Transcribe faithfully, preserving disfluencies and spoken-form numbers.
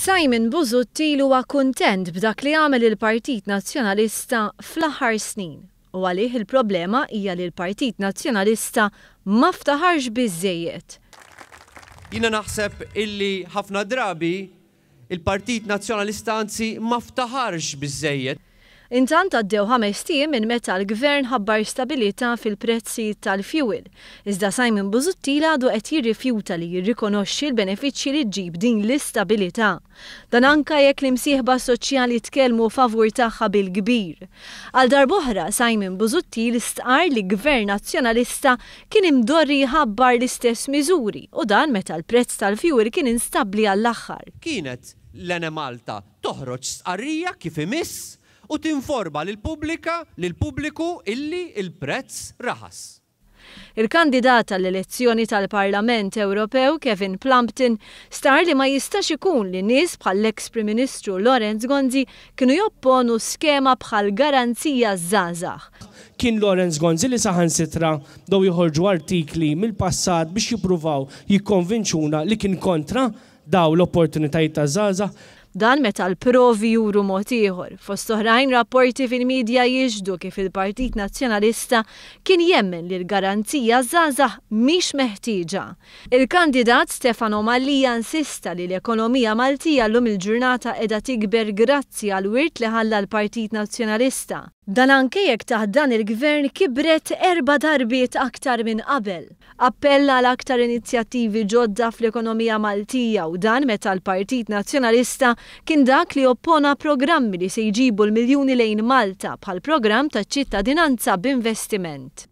Simon Busuttil huwa kuntent b'dak li għamel il-Partit Nazzjonalista fl-aħħar snin u għalih il-problema hija li l-Partit Nazzjonalista ma ftaħarx biżżejjed. Jiena naħseb illi ħafna drabi il-Partit Nazzjonalista anzi ma ftaħarx biżżejjed. Intant għaddew ħamest ijiem minn meta l-Gvern ħabbar stabilità fil-prezzijiet tal-fuel. Iżda Simon Busuttil għadu qed jirrifjuta li jirrikonoxxi l-benefiċċji li ġġib din l-istabilità. Dan anka jekk l-imsieħba soċjali tkellmu favur tagħha bil-kbir. Għal darb'oħra Simon Busuttil stqar li Gvern Nazzjonalista kien imdorri jħabbar l-istess miżuri u dan meta l-prezz tal-fuel kien instabbli għall-aħħar. Kienet l-Enemalta toħroġ stqarrija kif imiss u tinforma lill-pubblika lill-pubbliku illi il-prezz raħas. Il-kandidat għall-elezzjoni tal-Parlament Ewropew Kevin Plumpton stqarr li ma jistax ikun li nies bħall-ex Prim Ministru Lawrence Gonzi kienu jopponu skema bħal garanzija żgħażagħ. Kien Lawrence Gonzi li saħansitra bdew joħorġu artikli mill-passat biex jippruvaw jikkonvinċuna li kien kontra daw l-opportunitajiet ta' żgħażagħ. Dan meta l-provi juru mod ieħor. Fost oħrajn, rapporti fil-medja jixhdu kif il-Partit Nazzjonalista kien jemmen li l-garanzija żgħażagħ mhix meħtieġa. Il-kandidat Stefano Mallia insista li l-ekonomija Maltija llum il-ġurnata qiegħda tikber grazzi għal wirt li ħalla l-Partit Nazzjonalista. Dan anke jekk taħt dan il-gvern kibret erba' darbiet aktar minn qabel. Appella għal aktar inizjattivi ġodda fl-ekonomija Maltija u dan meta l-Partit Nazzjonalista kien dak li oppona programmi li se jġibu l-miljuni lejn Malta bħal programm ta' ċittadinanza b'investiment.